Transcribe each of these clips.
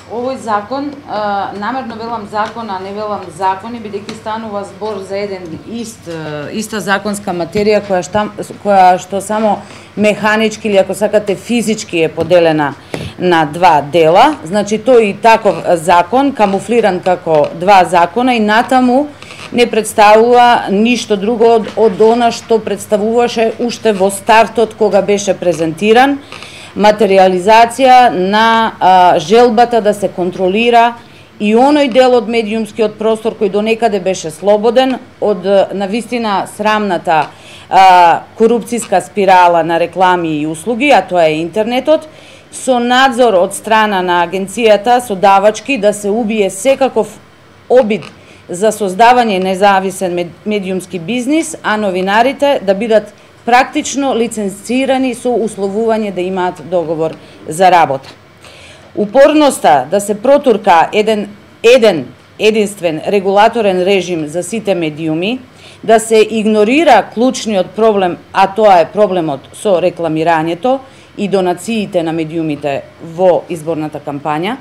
Овој закон, намерно велам закон, а не велам закони, бидејќи станува збор за иста законска материја која што само механички или ако сакате физички е поделена на два дела. Значи тој и таков закон, камуфлиран како два закона и натаму не представува ништо друго од она што представуваше уште во стартот кога беше презентиран, материјализација на желбата да се контролира и оној дел од медиумскиот простор кој до некаде беше слободен од навистина срамната корупцијска спирала на реклами и услуги, а тоа е интернетот, со надзор од страна на агенцијата содавачки да се убие секаков обид за создавање независен медиумски бизнис, а новинарите да бидат практично лицензирани со условување да имаат договор за работа. Упорноста да се протурка единствен регулаторен режим за сите медиуми, да се игнорира клучниот проблем, а тоа е проблемот со рекламирањето и донациите на медиумите во изборната кампања,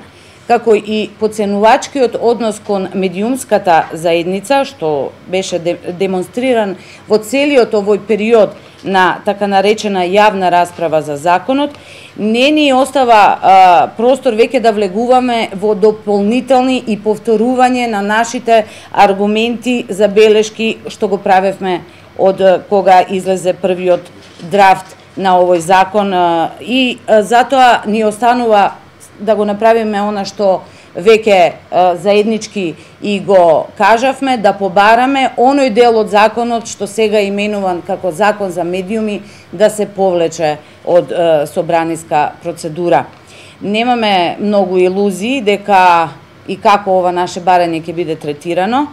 како и потценувачкиот однос кон медиумската заедница, што беше демонстриран во целиот овој период на така наречена јавна расправа за законот, не ни остава простор веќе да влегуваме во дополнителни и повторување на нашите аргументи за белешки што го правевме од кога излезе првиот драфт на овој закон и затоа ни останува да го направиме она што веќе заеднички и го кажавме, да побараме оној дел од законот што сега именуван како закон за медиуми да се повлече од собраниска процедура. Немаме многу илузии дека и како ова наше барање ќе биде третирано.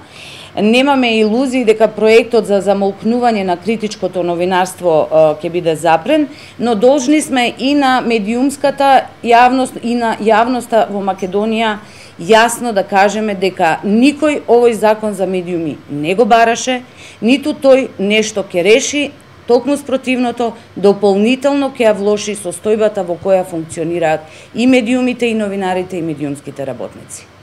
Немаме илузии дека проектот за замолкнување на критичкото новинарство ќе биде запрен, но должни сме и на медиумската јавност и на јавноста во Македонија јасно да кажеме дека никој овој закон за медиуми не го бараше, ниту тој нешто ќе реши, токму спротивното, дополнително ќе ја влоши состојбата во која функционираат и медиумите, и новинарите, и медиумските работници.